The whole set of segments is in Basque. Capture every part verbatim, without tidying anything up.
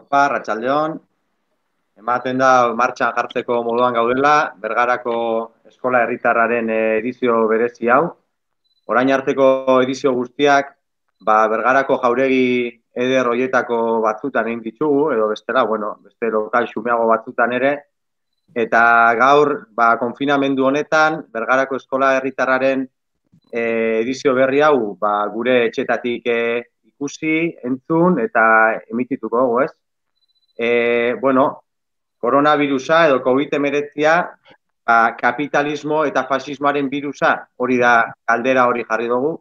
Opa, Arratsaldeon, ematen da martxan jartzeko moduan gaudela, Bergarako Eskola Herritarraren edizio berezi hau. Orain arteko edizio guztiak, ba, Bergarako jauregi eder hoietako batzutan egin ditugu, edo bestela, bueno, beste lokal xumeago batzutan ere, eta gaur, ba, konfinamendu honetan, Bergarako Eskola Herritarraren eh, edizio berri hau, ba, gure etxetatik eh, ikusi, entzun, eta emitituko dugu, ez? E, bueno, koronavirusa edo COVID hemeretzia ba, kapitalismo eta fasismoaren virusa, hori da galdera hori jarri dugu,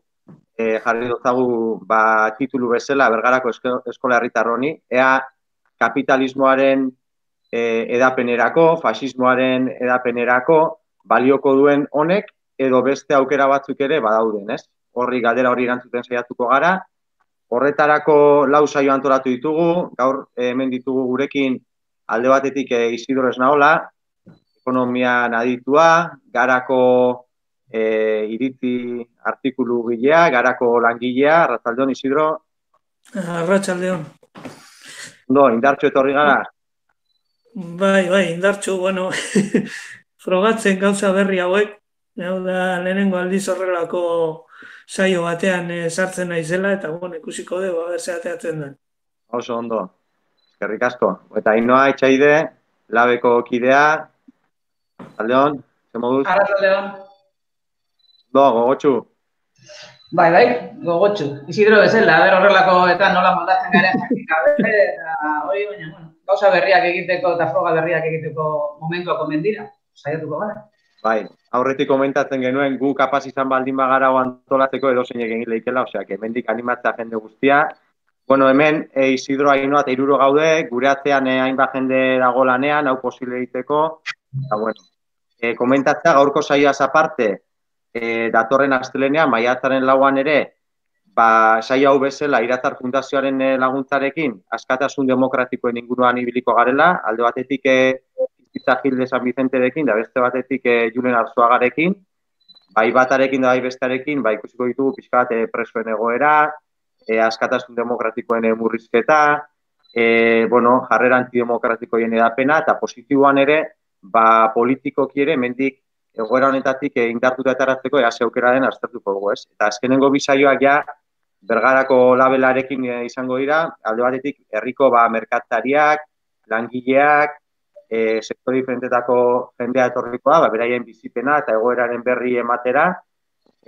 e, jarri dozagu ba, titulu bezala Bergarako Eskola Herritar honi, ea kapitalismoaren e, edapenerako, fasismoaren edapenerako balioko duen honek, edo beste aukera batzuk ere badauden, ez? Horri galdera hori erantzuten saiatuko gara. Horretarako lau saio antolatu ditugu, gaur hemen ditugu gurekin alde batetik Isidro Esnaola, ekonomian aditua, Garako e, iritzi artikulu gilea, Garako langilea, Arratsaldeon Isidro. Arratsaldeon. Ondo, indartxo etorri gara? Bai, bai, indartxo, bueno, frogatzen gauza berri hauek, hau da lehenengo aldiz horrelako saio batean e, sartzen naizela, eta bueno, ikusiko dugu, aber ze ateatzen den. Oso ondo, eskerrik asko. Eta Ainoa Etxaide, labeko kidea, Arratsaldeon, ze moduz? Arratsaldeon. Do, gogotxu. Bai, bai, gogotxu. Isidro bezala, aber horrelako eta nola moldatzen garen jakin gabe, eta hori, baina, bueno, gauza berriak egiteko eta froga berriak egiteko momentuak omen dira, saiatuko gara. Bai, aurretik komentatzen genuen gu kapaz izan baldin bagara antolatzeko edozein egin leikela, osea, que hemendik animatzea jende guztia. Bueno, hemen e, Isidro Ainoa eta hiruro gaude, gure atzean e, hainbat jende dago lanean, hau posible egiteko. Eta bueno, e, komentatzea gaurko saioaz aparte, e, datorren astelenean, maiatzaren lauan ere, ba, saio hau bezala Iratzar Fundazioaren e, laguntzarekin, askatasun demokratikoen inguruan ibiliko garela, alde batetik e, Izitza Gilde San Vicenterekin, da beste batetik e, Julen Arzuagarekin, bai batarekin da bai bestarekin, ba, ikusiko ditugu pixka bat e, presoen egoera, e, askatasun demokratikoen e, murrizketa, e, bueno, jarrera antidemokratikoien edapena, eta positiboan ere, ba, politikoki ere, mendik egoera honetatik e, indartuta etaratzeko ea ze aukera den aztertuko dugu, ez? Eta azkenengo bisaioak ja, Bergarako labelarekin e, izango dira, alde batetik herriko ba, merkatariak, langileak, E, sektore diferentetako jendea etorrikoa, ba, beraien bizipena eta egoeraren berri ematera,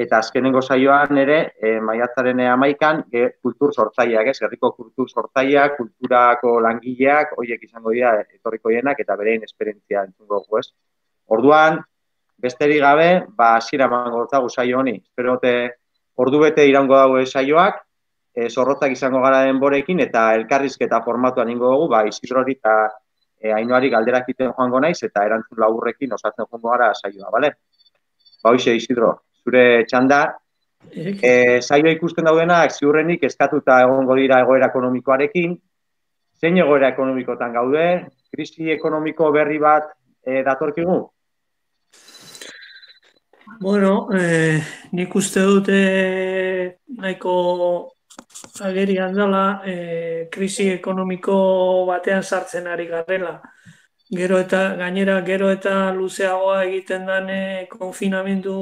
eta azkenengo saioan ere, e, maiatzaren hamaikan, e, kultur sortzaileak, ez, herriko kultur sortzaileak, kulturako langileak, horiek izango dira etorriko dienak, eta berein esperientzia entzungo dugu, ez. Orduan, besterik gabe, ba, hasiera emango dutzagu saio honi. Espero dute ordu bete iraungo dago saioak, e, zorrotzak izango gara denborekin, eta elkarrizketa formatuan ingo dugu, ba, Isidrori eta E, Ainoari galderak iten joango naiz eta erantzun laburrekin osatzen joango gara saioa, bale? Ba, hoxe, Isidro, zure txanda, e, saioa ikusten daudenak ziurrenik eskatuta egongo dira egoera ekonomikoarekin, zein egoera ekonomikotan gaude, krisi ekonomiko berri bat e, datorkigu? Bueno, eh, nik uste dute nahiko agerian dela, eh, krisi ekonomiko batean sartzen ari garela. Gero eta, gainera, gero eta luzeagoa egiten den konfinamendu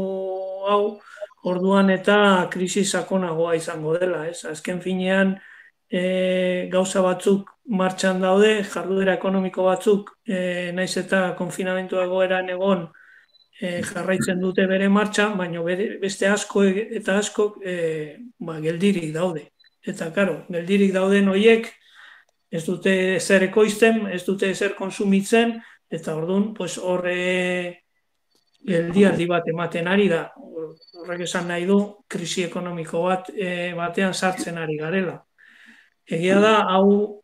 hau, orduan eta krisi sakonagoa izango dela, ez? Azken finean, e, gauza batzuk martxan daude, jarduera ekonomiko batzuk, e, naiz eta konfinamendu egoeran egon, e, jarraitzen dute bere martxan, baina beste asko eta asko e, ba, geldirik daude. Eta, karo, geldirik dauden horiek, ez dute zer ekoizten, ez dute zer konsumitzen, eta orduan, pues, horre geldialdi bat ematen ari da. Horrek esan nahi du, krisi ekonomiko bat e, batean sartzen ari garela. Egia da, hau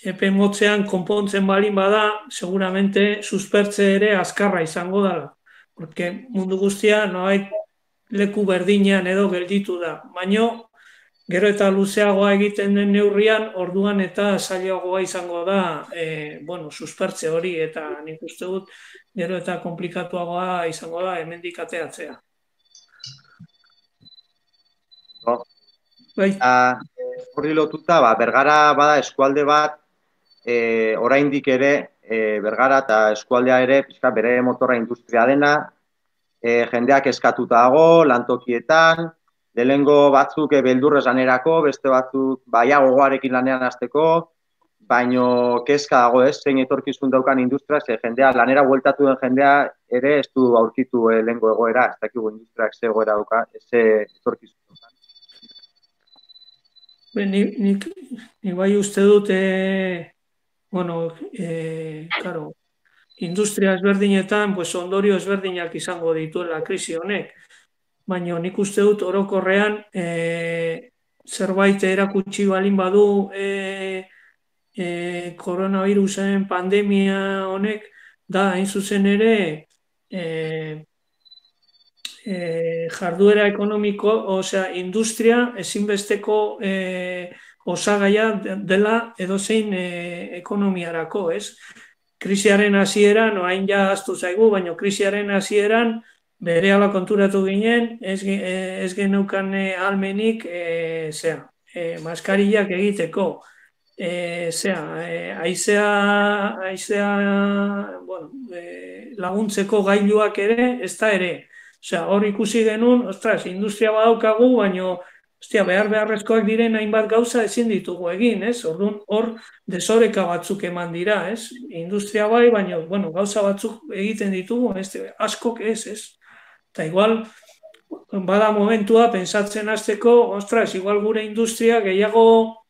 epe motzean konpontzen balin bada, seguramente suspertze ere azkarra izango dela. Porque mundu guztia noait leku berdinean edo gelditu da. Baina, gero eta luzeagoa egiten den neurrian, orduan eta zailagoa izango da, e, bueno, suspertze hori, eta nik uste dut, gero eta komplikatuagoa izango da hemendik ateatzea. No. Bai. Horri lotuta, ba, Bergara bada eskualde bat, e, oraindik ere e, Bergara eta eskualdea ere pixka bere motorra industria dena, e, jendeak eskatuta dago, lantokietan, lehengo batzuk e, beldurrez lanerako, beste batzuk baia gogoarekin lanean hasteko, baino kezka dago ez, zein etorkizun daukan industria, ze jendea, lanera bueltatu den jendea ere ez du aurkitu e, lehengo egoera, ez dakigu industriak ze egoera dauka, ez etorkizun daukan. Nik, nik, nik bai uste dut, e, bueno, e, claro, industria ezberdinetan, pues, ondorio ezberdinak izango dituela krisi honek. Baina nik uste dut orokorrean e, zerbait erakutsi balin badu e, e, koronavirusen pandemia honek, da hain zuzen ere e, e, jarduera ekonomiko, osea, industria ezinbesteko e, osagaia dela edozein e, ekonomiarako, ez? Krisiaren hasieran, orain ja ahaztu zaigu, baina krisiaren hasieran berehala konturatu ginen, ez, ez geneukan ahalmenik e, zea, e, maskarillak egiteko, e, zea, e, aizea, aizea bueno, e, laguntzeko gailuak ere, ez da ere. Osea, hor ikusi genuen, ostras, industria badaukagu, baina ostia, behar beharrezkoak diren hainbat gauza ezin ditugu egin, ez? Orduan, hor desoreka batzuk eman dira, ez? Industria bai, baina, bueno, gauza batzuk egiten ditugu, ez? Askok ez, ez? Eta igual, bada momentua, pensatzen hasteko, ostras, igual gure industria gehiago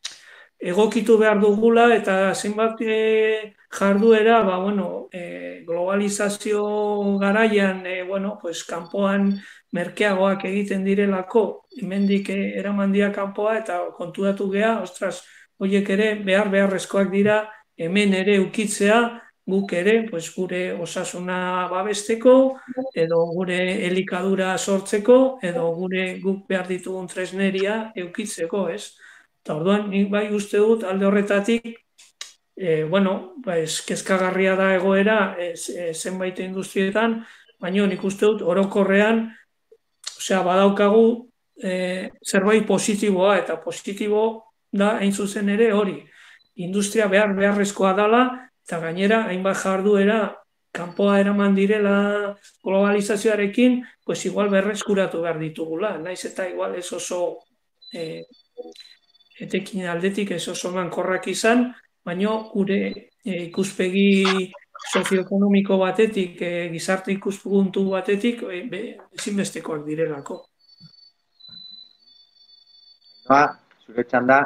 egokitu behar dugula, eta zenbat e, jarduera, ba, bueno, e, globalizazio garaian, e, bueno, pues, kanpoan merkeagoak egiten direlako, hemendik eraman dira kanpoa, eta konturatu gea, ostras, horiek ere behar beharrezkoak dira, hemen ere ukitzea, guk ere, pues, gure osasuna babesteko, edo gure elikadura sortzeko, edo gure guk behar ditugun tresneria eukitzeko, ez? Eta orduan, nik bai uste dut alde horretatik, e, bueno, pues, kezkagarria da egoera e, zenbait industrietan, baina nik uste dut orokorrean, osea, badaukagu e, zerbait positiboa, eta positibo da hain zuzen ere hori. Industria behar beharrezkoa dela, eta gainera, hainbat jarduera, kanpoa eraman direla globalizazioarekin, pues igual berreskuratu behar ditugula. Naiz eta igual ez oso e, etekin aldetik ez oso mankorrak izan, baina gure e, ikuspegi sozioekonomiko batetik, e, gizarte ikuspuntu batetik, e, ezinbestekoak direlako. Ba, zure txanda,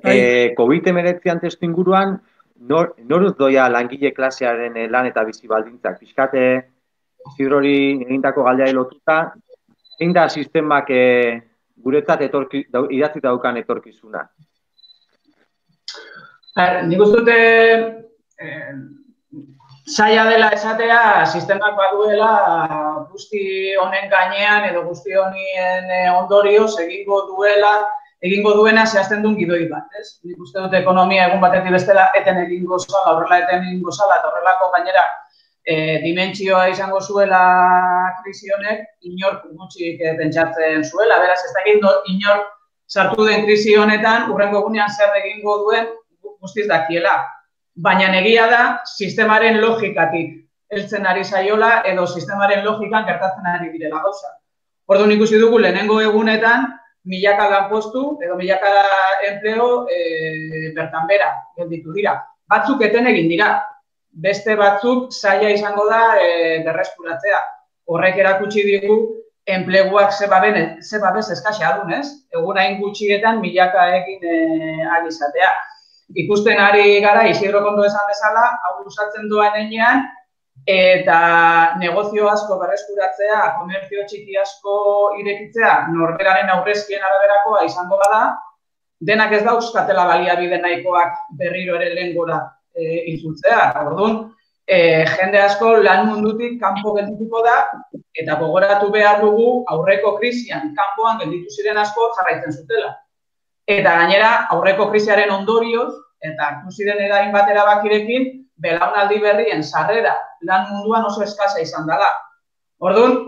e, COVID hemeretzian testu inguruan, nor, noruz doia langile klasearen lan eta bizi baldintzak? Pixkate, Isidrori egindako galdeari lotuta, zein da sistemak e, guretzat etorki, idatzi daukan etorkizuna? Nik uste dute eh, zaila dela esatea, sistemak baduela guzti honen gainean edo guzti honien ondorioz egingo duela, egingo duena zehazten duen gidoi bat, ez? Nik uste dute ekonomia egun batetik bestela eten egingo zala, horrela eten egingo zala, eta horrelako gainera e, dimentsioa izango zuela krisi honek, inork gutxik pentsatzen zuela, beraz ez dakit inork sartu den krisi honetan, hurrengo egunean zer egingo duen guztiz dakiela. Baina egia da, sistemaren logikatik heltzen ari zaiola edo sistemaren logikan gertatzen ari direla gauza. Orduan ikusi dugu lehenengo egunetan, milaka lanpostu edo milaka enpleo e, bertan bera gelditu dira. Batzuk eten egin dira, beste batzuk zaila izango da e, berreskuratzea. Horrek erakutsi digu enpleguak ze babes eskasia dun, ez? Egun hain gutxietan milaka egin e, ari izatea. Ikusten ari gara, Isidro kondo esan bezala, hau usatzen doan enean, eta negozio asko berreskuratzea, komertzio txiki asko irekitzea, norberaren aurrezkien araberakoa izango bada, denak ez dauzkatela baliabide nahikoak berriro ere lehengora e, itzultzea. Orduan, e, jende asko lan mundutik kanpo geldituko da, eta gogoratu behar dugu aurreko krisian, kanpoan gelditu ziren asko jarraitzen zutela. Eta gainera, aurreko krisiaren ondorioz, eta hartu ziren erain bat erabakirekin, belaunaldi berrien sarrera lan munduan oso eskasa izan dela. Orduan,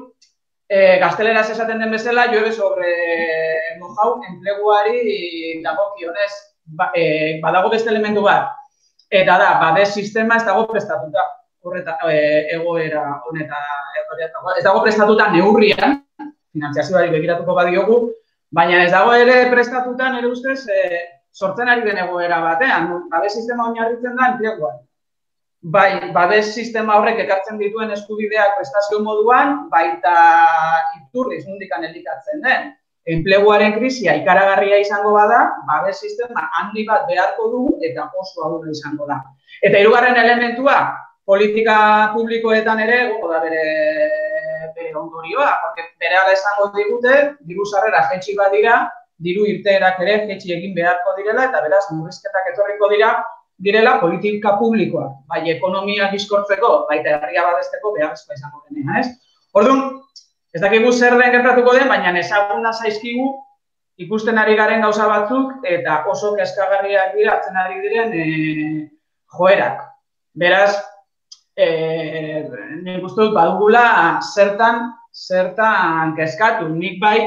e, gazteleraz esaten den bezala, llueve sobre mojau enpleguari dagokionez. Ba, e, badago beste elementu bat. Eta da, babes sistema ez dago prestatuta, horreta, egoera honetan, ez dago prestatuta neurrian, finantziazioari begiratuko badiogu, baina ez dago ere prestatuta, nire ustez, sortzen ari den egoera batean, babes sistema oinarritzen da enpleguan. Bai, babes sistema horrek ekartzen dituen eskubideak prestazio moduan, baita iturriz mundikan elikatzen den. Enpleguaren krisia ikaragarria izango bada, babes sistema handi bat beharko dugu eta oso ahulra izango da. Eta hirugarren elementua, politika publikoetan ere, goko da bere, bere ondorioa, porque bere ala esango digute, diru sarrera jetxi bat dira, diru irteerak ere jetxi egin beharko direla, eta beraz, murrizketak etorriko dira, direla politika publikoa, bai ekonomia bizkortzeko, baita herria babesteko beharrezkoa izango denea, ez? Orduan, ez dakigu zer den gertatuko den, baina ezaguna zaizkigu ikusten ari garen gauza batzuk eta oso kezkagarriak dira hartzen ari diren e, joerak. Beraz, e, nik uste dut badugula zertan, zertan kezkatu. Nik bai,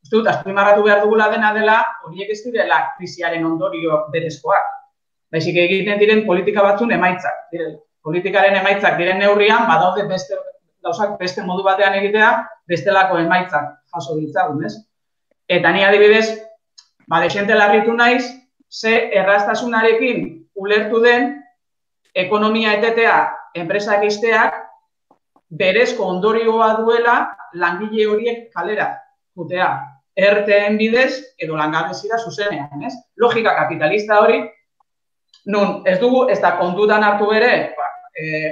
uste dut, azpimarratu behar dugula dena dela, horiek ez direla krisiaren ondorio berezkoak. Baizik egiten diren politika batzun emaitzak. Direla. Politikaren emaitzak diren neurrian, badaude beste gauzak beste modu batean egitea, bestelako emaitzak jaso ditzagun, ez? Eta ni adibidez, ba, desente larritu naiz, ze erraztasunarekin ulertu den ekonomia etetea enpresak izteak berezko ondorioa duela langile horiek kalera jutea. Erteen bidez edo langabezira zuzenean, ez? Logika kapitalista hori, nun ez dugu ez da kontutan hartu bere, ba,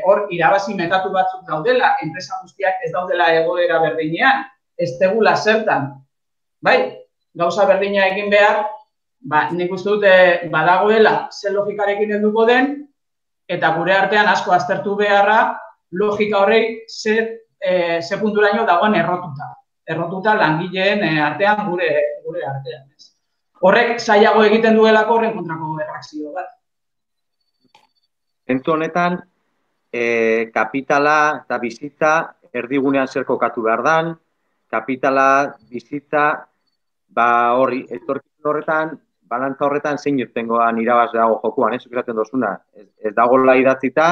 hor e, irabazi metatu batzuk daudela, enpresa guztiak ez daudela egoera berdinean, ez tegula zertan. Bai, gauza berdina egin behar, ba, nik uste dute badagoela ze logikarekin helduko den, eta gure artean asko aztertu beharra logika horrei ze, e, ze punturaino dagoen errotuta. Errotuta langileen artean gure, gure artean. Horrek zailago egiten duelako horren kontrako erreakzio bat. Entu honetan, E, kapitala eta bizitza erdigunean zer kokatu behar dan, kapitala, bizitza, ba hori, etorkizun horretan, balantza horretan zein irtengoan irabaz dago jokuan, ez esaten dozuna. Ez, ez dagoela idatzita,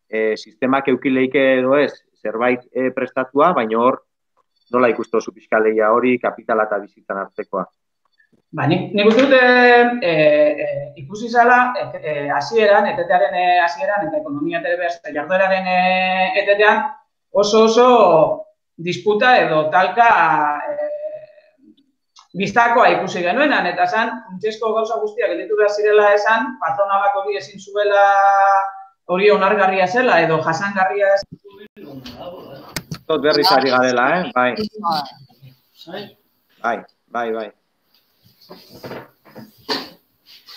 e, sistemak eukileike edo ez, zerbait e, prestatua, baina hor, nola ikustu zu fiskaleia hori, kapitala eta bizitzan hartzekoa. Ba, nik, nik uste dute e, e, ikusi zala, hasieran, e, etetearen hasieran, eta ekonomia eta jardueraren etetean, oso oso disputa edo talka e, biztakoa ikusi genuenan, eta esan, funtsezko gauza guztiak gelditu behar zirela esan, patronalak hori ezin zuela hori onargarria zela, edo jasangarria zela. Tot berriz ari garela, eh? Bai. Bai, bai, bai.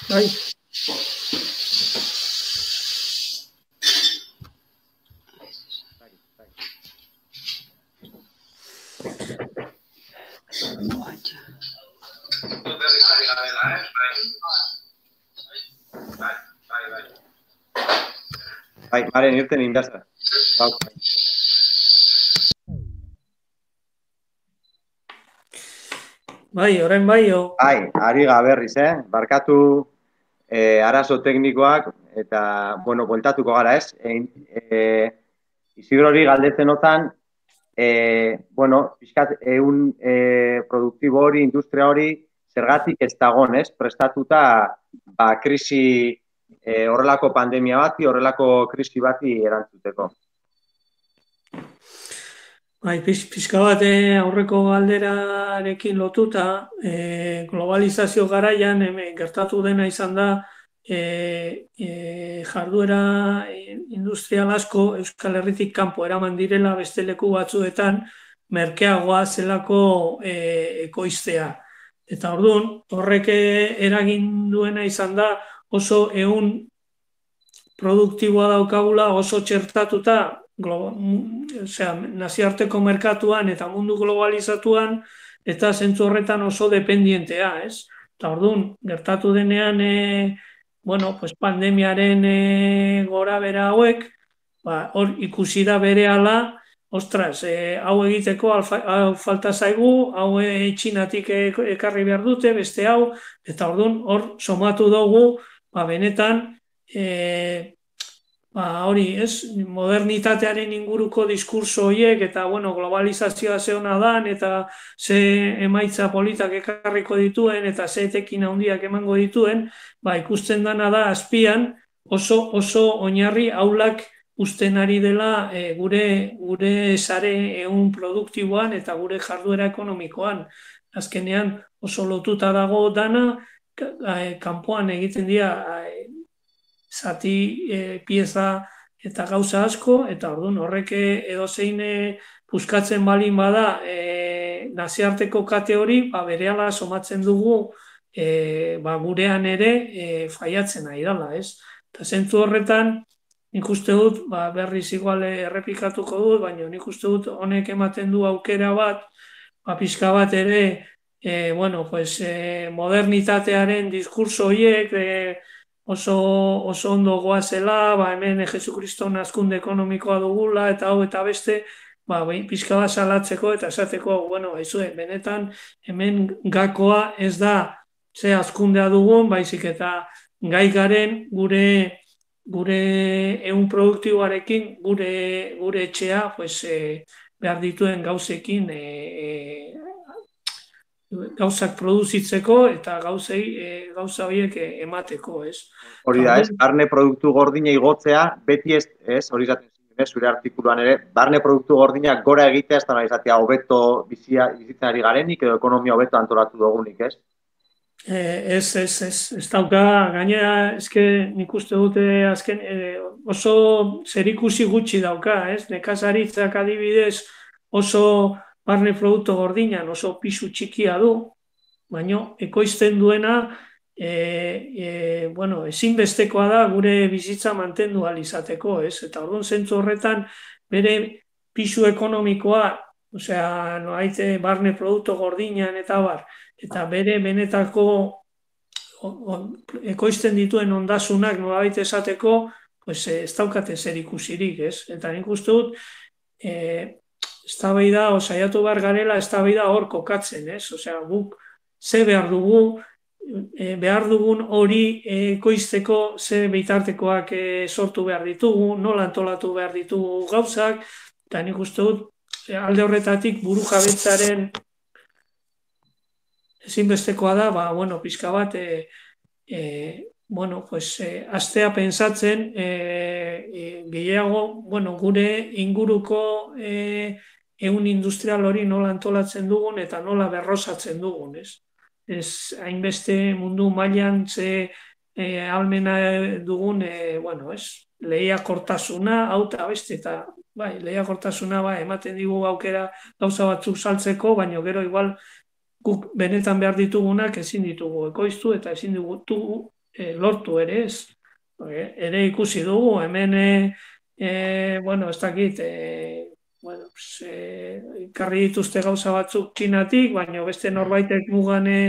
Bai. Bai, Maren, irten indaza. Bai, orain bai, o... Bai, ari gaberriz, eh? Barkatu eh, arazo teknikoak eta, bueno, bueltatuko gara, ez? E, e, Isidro hori galdetzen otan, e, bueno, pixkat, egun e, produktibo hori, industria hori, zergatik ez dagon, ez? Prestatuta, ba, krisi, e, horrelako pandemia bati, horrelako krisi bati erantzuteko. Bai, pixka bat aurreko galderarekin lotuta, e, globalizazio garaian hemen gertatu dena izan da e, e, jarduera industrial asko Euskal Herritik kanpo eraman direla beste leku batzuetan merkeagoa zelako e, ekoiztea. Eta orduan, horrek eragin duena izan da oso ehun produktiboa daukagula, oso txertatuta, Osea, nazioarteko merkatuan eta mundu globalizatuan eta zentzu horretan oso dependientea, ez? Eta orduan, gertatu denean, e, bueno, pues pandemiaren e, gora bera hauek, ba, hor ikusi da berehala, ostras, e, hau egiteko alfa, hau falta zaigu, hau e, Txinatik ekarri behar dute, beste hau, eta orduan, hor somatu dugu, ba, benetan, e, ba, hori, ez, modernitatearen inguruko diskurso horiek, eta, bueno, globalizazioa ze hona dan, eta ze emaitza politak ekarriko dituen, eta ze etekin handiak emango dituen, ba, ikusten dana da, azpian, oso, oso oinarri aulak usten ari dela e, gure, gure sare ehun produktiboan eta gure jarduera ekonomikoan. Azkenean oso lotuta dago dana, kanpoan egiten dira e, zati e, pieza eta gauza asko, eta orduan horrek edozein puskatzen balin bada e, naziarteko kate hori, ba, berehala somatzen dugu e, ba, gurean ere e, faiatzen ari dela, ez? Eta zentzu horretan, nik uste dut, ba, berriz igual errepikatuko dut, baina nik uste dut honek ematen du aukera bat, ba, pixka bat ere, e, bueno, pues, e, modernitatearen diskurso horiek, e, oso, oso ondo goazela, ba, hemen Jesukriston azkunde ekonomikoa dugula, eta hau eta beste, ba, pixka bat salatzeko eta esateko, bueno, haizue, benetan, hemen gakoa ez da ze azkundea dugun, baizik eta gai garen gure gure ehun produktiboarekin, gure, gure etxea, pues, e, behar dituen gauzekin e, e, gauzak produzitzeko eta gauzei, e, gauza horiek emateko, ez? Hori da, ez, barne produktu gordina igotzea, beti ez, ez, hori zaten zuen, zure artikuluan ere, barne produktu gordina gora egitea, ez da nahi izatea, hobeto bizia izitzen ari garenik, edo ekonomia hobeto antolatu dugunik, ez? Eh, ez, ez, ez, ez dauka, gainera, eske nik uste dute azken, eh, oso zerikusi gutxi dauka, ez? Nekazaritzak adibidez oso barne produktu gordinan, oso pisu txikia du, baina ekoizten duena, eh, eh, bueno, ezinbestekoa da gure bizitza mantendu ahal izateko, ez? Eta orduan zentzu horretan bere pisu ekonomikoa, osea, noaite barne produktu gordinan eta bar, eta bere benetako ekoizten dituen ondasunak nolabait esateko, pues, ez daukate zer ikusirik, ez? Eta nik uste dut, e, eztabaida, saiatu behar garela, eztabaida hor kokatzen, ez? Osea, guk ze behar dugu, e, behar dugun hori ekoizteko ze bitartekoak e, sortu behar ditugu, nola antolatu behar ditugu gauzak, eta nik uste dut, alde horretatik buru jabetzaren ezinbestekoa da, ba, bueno, pixka bat, e, e, bueno, pues, e, astea pensatzen, e, e, gehiago, bueno, gure inguruko e, ehun industrial hori nola antolatzen dugun eta nola berrosatzen dugun, ez? Ez, hainbeste mundu mailan ze e, almena dugun, e, bueno, ez? Lehiakortasuna, hau eta beste, eta bai, lehiakortasuna, bai, ematen digu aukera gauza batzuk saltzeko, baina gero igual guk benetan behar ditugunak ezin ditugu ekoiztu eta ezin ditugu e, lortu ere ez. E, ere ikusi dugu, hemen, e, e, bueno, ez dakit, e, bueno, e, karri dituzte gauza batzuk txinatik, baina beste norbaitek mugan e,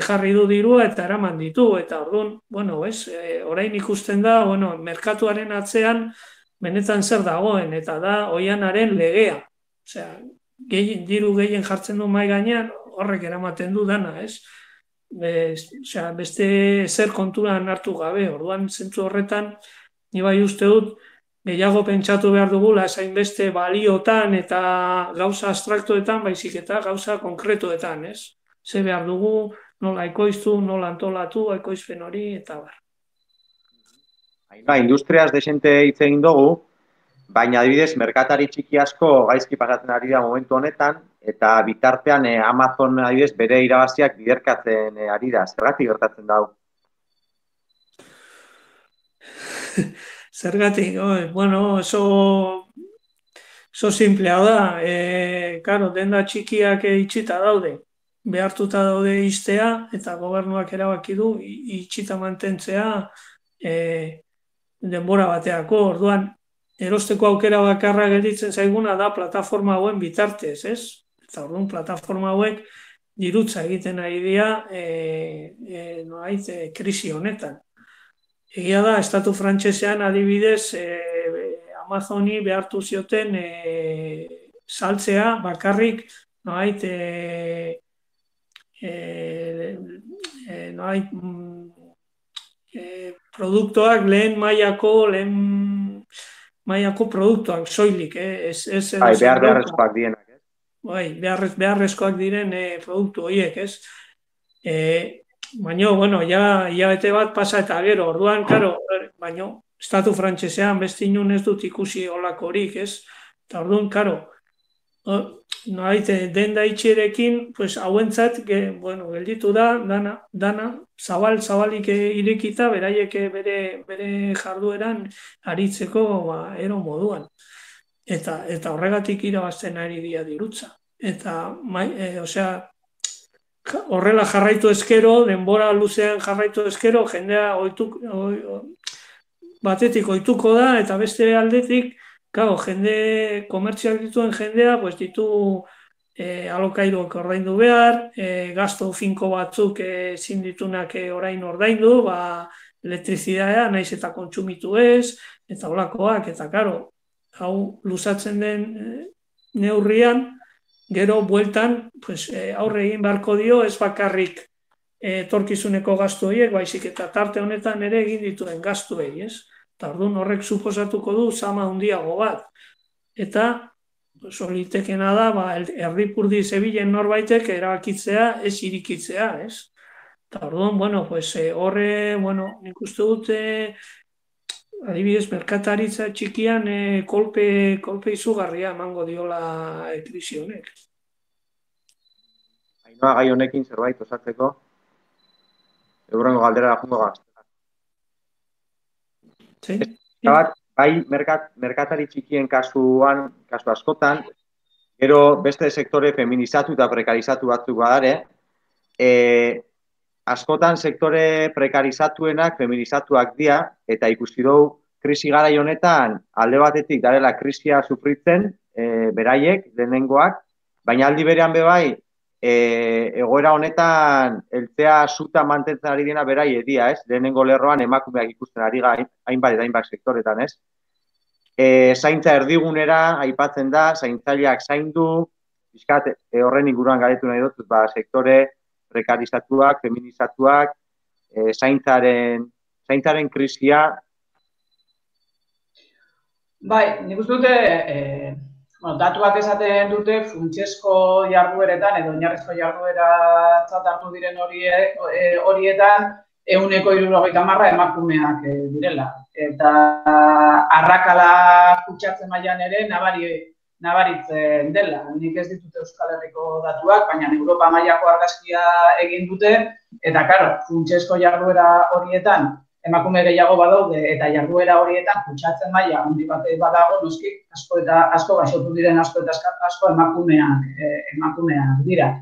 jarri du dirua eta eraman ditu, eta orduan, bueno, ez, e, orain ikusten da, bueno, merkatuaren atzean benetan zer dagoen, eta da oianaren legea. Osea, gehien, diru gehien jartzen du mai gainean, horrek eramaten du dana, ez? Be, osea, beste zer konturan hartu gabe, orduan zentzu horretan, ni bai uste dut, gehiago pentsatu behar dugula, esain beste baliotan eta gauza abstraktuetan, baizik eta gauza konkretuetan, ez? Ze behar dugu, nola ekoiztu, nola antolatu, ekoizpen hori, eta bar. Ba, industriaz desente hitz egin dugu, baina adibidez, merkatari txiki asko gaizki pasatzen ari da momentu honetan, eta bitartean eh, Amazon adibidez bere irabaziak biderkatzen eh, ari da. Zergatik gertatzen da hau? Zergatik, oi, bueno, oso, oso simplea da. E, claro, denda txikiak itxita daude. Behartuta daude iztea, eta gobernuak erabaki du itxita mantentzea e, denbora bateako. Orduan, erosteko aukera bakarra gelditzen zaiguna da plataforma hauen bitartez, ez? Eta orduan, plataforma hauek dirutza egiten ari dira e, e, noait, e, krisi honetan. Egia da, estatu frantsesean adibidez e, Amazoni behartu zioten e, saltzea bakarrik noait, e, e, e, noait, e, produktuak lehen mailako, lehen mailako produktuak, soilik, eh? ez, ez edo Bai, zen behar dauka. beharrezkoak dienak, ez? Bai, beharrez, beharrezkoak diren eh, produktu horiek, ez? Eh, baina, bueno, ja, hilabete bat pasa eta gero, orduan, karo, baina, estatu frantsesean beste inun ez dut ikusi olakorik, ez? Eta orduan, karo, no haite, denda itxerekin, pues, hauentzat, ge, bueno, gelditu da, dana, dana, zabal, zabalik irekita, beraiek bere, bere jardueran aritzeko, ba, ero moduan. Eta, eta horregatik irabazten ari dira dirutza. Eta, mai, e, osea, horrela jarraitu ezkero, denbora luzean jarraitu ezkero, jendea oituk, o, batetik oituko da, eta beste aldetik, claro, jende, komertziak dituen jendea, pues ditu eh, alokairuak ordaindu behar, eh, gasto finko batzuk ezin eh, ditunak eh, orain ordaindu, ba, elektrizidadea naiz eta kontsumitu ez, eta holakoak, eta karo, hau luzatzen den eh, neurrian, gero bueltan, pues, eh, aurre egin beharko dio, ez bakarrik etorkizuneko gastu horiek, baizik eta tarte honetan ere egin dituen gastuei, ez? Eta orduan horrek suposatuko du zama handiago bat. Eta solitekena da, ba, erdipurdi zebilen norbaitek erabakitzea, ez irikitzea, ez? Eta orduan, bueno, pues, horre, bueno, nik uste dute, adibidez, merkataritza txikian eh, kolpe, kolpe izugarria emango diola krisi honek. Ainhoa, gai honekin zerbait osatzeko, eurrengo galdera jungo gazte. Sí. Bat, bai, merkat, merkatari txikien kasuan, kasu askotan, gero beste sektore feminizatu eta prekarizatu batzuk badare, e, askotan sektore prekarizatuenak feminizatuak dira, eta ikusi dugu krisi garai honetan alde batetik darela krisia sufritzen, e, beraiek, lehenengoak, baina aldi berean bebai, e, egoera honetan eltzea suta mantentzen ari dena berai edia, ez? Lehenengo lerroan emakumeak ikusten ari gain, hainbat eta hainbat sektoretan, ez? E, zaintza erdigunera aipatzen da, zaintzaileak zaindu, bizkat, e, horren inguruan galetu nahi dut, ba, sektore prekarizatuak, feminizatuak, e, zaintzaren, zaintzaren krisia. Bai, nik uste dute, e, bueno, datuak esaten dute funtsezko jardueretan edo oinarrizko jardueratzat hartu diren horie, horietan ehuneko hirurogeita hamar emakumeak e, direla. Eta arrakala kutsatzen mailan ere nabari, nabaritzen dela. Nik ez ditut Euskal Herriko datuak, baina Europa mailako argazkia egin dute. Eta, karo, funtsezko jarduera horietan emakume gehiago badaude eta jarduera horietan kutsatzen maila handi bat badago, noski asko eta asko gaixotu diren asko eta asko emakumeak, eh, emakumeak dira.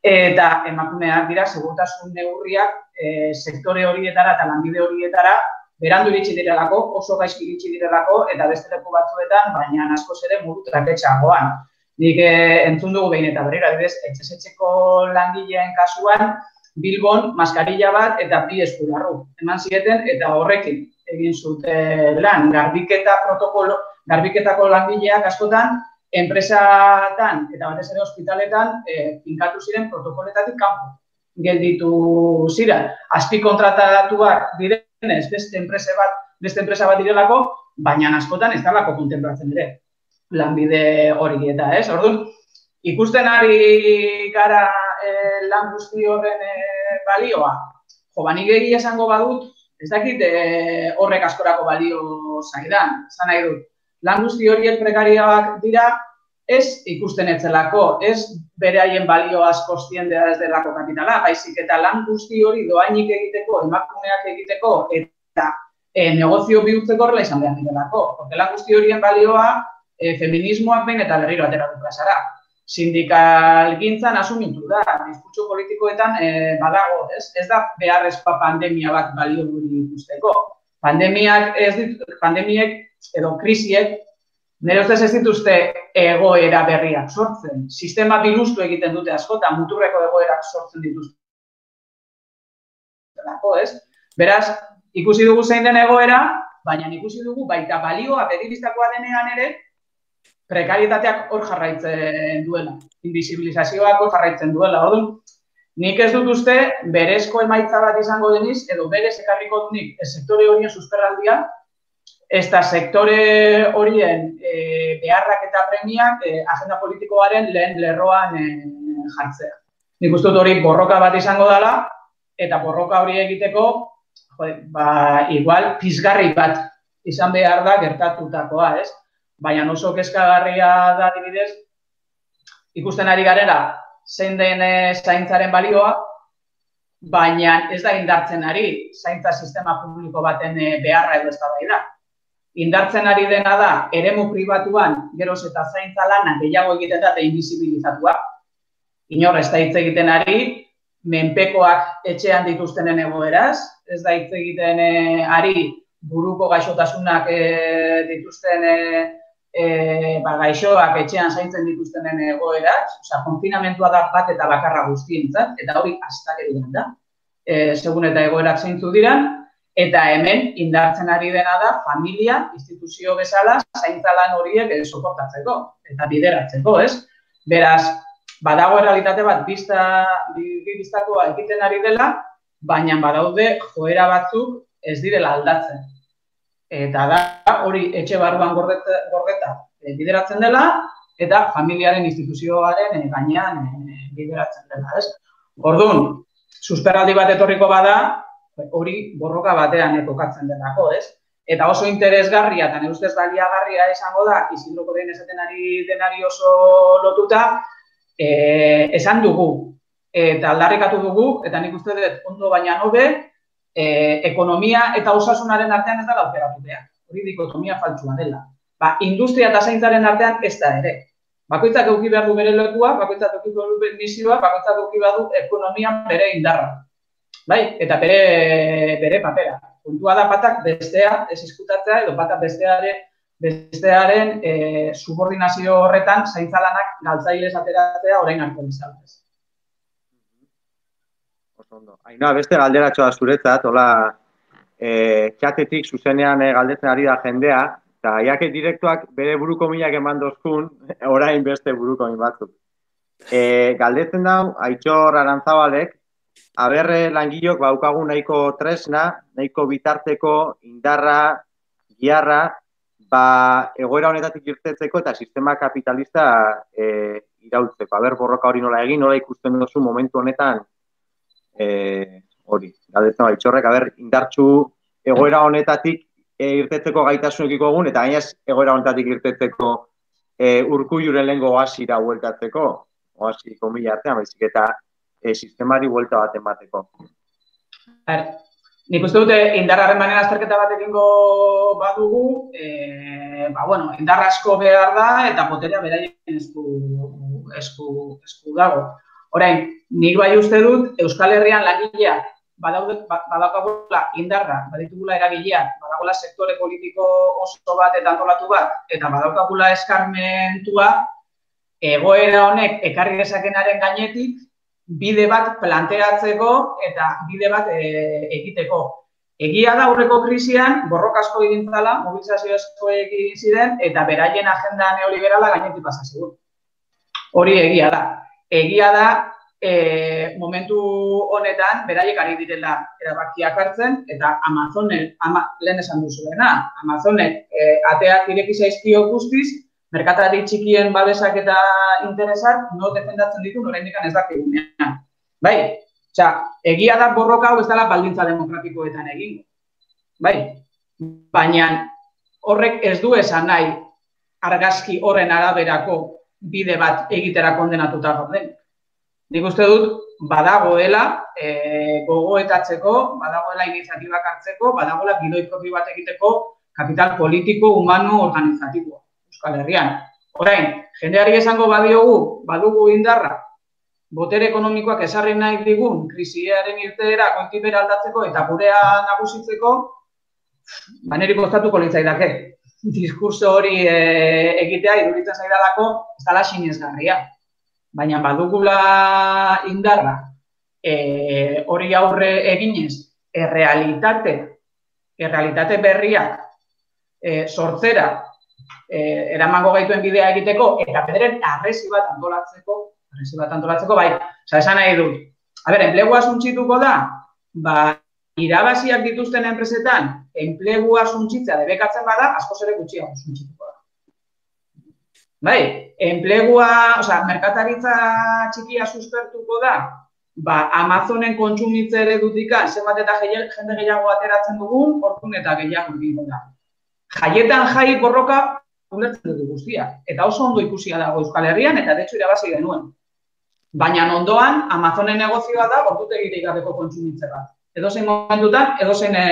Eta emakumeak dira segurtasun neurriak eh, sektore horietara eta lanbide horietara berandu iritsi direlako, oso gaizki iritsi direlako eta beste leku batzuetan, baina askoz ere modu traketxeagoan. Nik eh, entzun dugu behin eta berriro, adibidez, etxez-etxeko langileen kasuan, Bilbon maskarilla bat eta bi eskularru eman zieten eta horrekin egin zuten lan. Garbiketa protokolo, garbiketako langileak askotan enpresatan eta batez ere ospitaletan eh, finkatu ziren protokoletatik kanpo gelditu ziren. Azpikontratatuak direnez beste enpresa bat, beste enpresa bat direlako, baina askotan ez dalako kontenplatzen ere lanbide hori eta, ez? Orduan, ikusten ari gara eh, lan guzti horren eh, balioa. Jo, banik egia esango badut, ez dakit eh, horrek askorako balio zaidan. Zan nahi dut, lan guzti horiek prekarioak dira, ez ikusten etzelako, ez beraien balio askoz tiendea ez delako kapitala, baizik eta lan guzti hori doainik egiteko, emakumeak egiteko, eta eh, negozio bihurtzeko horrela izan behar direlako. Porque lan guzti horien balioa eh, feminismoak behin eta berriro atera du plazara. Sindikalgintzan asumitu da, diskurtso politikoetan eh, badago, ez? Ez da beharrezkoa pandemia bat balio duri ikusteko. Pandemiak ez dit, pandemiek edo krisiek nire ustez ez dituzte egoera berriak sortzen. Sistema bilustu egiten dute askotan, muturreko egoerak sortzen dituzte. Ez? Beraz, ikusi dugu zein den egoera, baina ikusi dugu baita balioa bedibistakoa denean ere, prekarietateak hor jarraitzen duela, invisibilizazioak hor jarraitzen duela. Orduan, nik ez dut uste berezko emaitza bat izango deniz, edo berez ekarriko dunik sektore horien susperraldia, ez da sektore horien e, beharrak eta premiak e, agenda politikoaren lehen lerroan e, jartzea. Nik uste dut hori borroka bat izango dela, eta borroka hori egiteko, jode, ba, igual, pizgarri bat izan behar da gertatutakoa, ez? Baina oso kezkagarria da adibidez, ikusten ari garela, zein den zaintzaren balioa, baina ez da indartzen ari zaintza sistema publiko baten beharra edo eztabaida. Indartzen ari dena da, eremu pribatuan, geroz eta zaintza lana gehiago egiten da eta invisibilizatua. Inor ez da hitz egiten ari, menpekoak etxean dituztenen egoeraz, ez da hitz egiten ari buruko gaixotasunak dituzten E, ba, gaixoak etxean zaintzen dituztenen egoeraz, osea, konfinamentua da bat eta bakarra guztientzat, eta hori astakeria da, e, segun eta egoerak zeintzu diran, eta hemen indartzen ari dena da familia, instituzio bezala, zaintza lan horiek soportatzeko eta bideratzeko, ez? Beraz, badago errealitate bat bizta, biztakoa egiten ari dela, baina badaude joera batzuk ez direla aldatzen. Eta da, hori etxe barruan gordeta, gordeta e, bideratzen dela, eta familiaren instituzioaren e, gainean e, bideratzen dela, ez? Orduan, susperraldi bat etorriko bada, hori borroka batean kokatzen delako, ez? Eta oso interesgarria, eta nire ustez baliagarria izango da, Isidroko den esaten ari denari oso lotuta, e, esan dugu, eta aldarrikatu dugu, eta nik uste dut ondo baina hobe, E, ekonomia eta osasunaren artean ez da aukeratu behar. Hori dikotomia faltsua dela. Ba, industria eta zaintzaren artean ez da ere. Bakoitzak eduki behar du bere lekua, bakoitzak eduki behar du misioa, bakoitzak eduki behar du ekonomia bere indarra. Bai? Eta bere, bere papera. Puntua da batak bestea ez izkutatzea edo batak bestearen, bestearen e, subordinazio horretan zaintzalanak galtzailez ateratzea orain arte izanez. Ainhoa, beste galderatxoa zuretzat, hola, e, txatetik zuzenean e, galdetzen ari da jendea, eta jake direktuak bere buruko minak eman dozkun, orain beste buruko min batzuk. E, galdetzen dau, Aitzor Arantzabalek, haber langilok baukagu nahiko tresna, nahiko bitarteko, indarra, giarra, ba, egoera honetatik irtetzeko eta sistema kapitalista e, iraultzeko. Haber borroka hori nola egin, nola ikusten duzu momentu honetan, E, hori, galdetzen da, Aitzorrek, haber, indartxu egoera honetatik e, irtetzeko gaitasunekiko egun, eta gainaz egoera honetatik irtetzeko e, Urkulluren lehengo oasira hueltatzeko, oasi komila artean, baizik eta e, sistemari huelta bat emateko. Er, nik uste dute indarraren manera azterketa bat egingo badugu, e, ba, bueno, indar asko behar da eta boterea beraien esku, esku, esku dago. Orain, nik bai uste dut, Euskal Herrian langileak badaukagula indarra, baditugula eragileak, badagola sektore politiko oso bat eta antolatu bat, eta badaukagula eskarmentua, egoera honek ekarri dezakenaren gainetik, bide bat planteatzeko eta bide bat e, egiteko. Egia da aurreko krisian, borroka asko egin zala, mobilizazio asko egin ziren, eta beraien agenda neoliberala gainetik pasa zigun. Hori egia da. Egia da, e, momentu honetan, beraiek ari direla erabakiak hartzen, eta Amazonek, ama, lehen esan duzuena, Amazonek e, ateak ireki zaizkio guztiz, merkatari txikien babesak eta interesak no defendatzen ditu oraindik ez dakigunean. Bai, osea, egia da borroka hau ez dela baldintza demokratikoetan egin. Bai, baina horrek ez du esan nahi argazki horren araberako bide bat egitera kondenatuta gauden. Nik uste dut, badagoela e, gogoetatzeko, badagoela iniziatibak hartzeko, badagoela gidoi propio bat egiteko kapital politiko, humano, organizatiboa Euskal Herrian. Orain, jendeari esango badiogu, badugu indarra, botere ekonomikoak esarri nahi digun, krisiaren irteera, goitibera aldatzeko eta gurea nagusitzeko, baneri kostatuko litzaidake. Diskurso hori e, egitea iduritzen zaidalako ez dela sinesgarria. Baina badugula indarra e, hori aurre eginez errealitate, errealitate berriak e, sortzera e, eramango gaituen bidea egiteko eta bederen arresi bat antolatzeko, arresi bat antolatzeko, bai, oza, esan nahi dut, A ber, enplegua suntsituko da, ba, irabaziak dituzten enpresetan, enplegua suntsitzea debekatzen bada, askoz ere gutxiago suntsituko da. Bai, enplegua, osea, merkataritza txikia suspertuko da, ba, Amazonen kontsumitze eredutik zenbat eta jende gehiago ateratzen dugun, orduan eta gehiago egingo da. Jaietan jai borroka ulertzen dugu guztia, eta oso ondo ikusia dago Euskal Herrian, eta detxo irabazi genuen. Baina ondoan, Amazonen negozioa da, ordutegirik gabeko kontsumitze bat. Edozein momentutan, edozein e,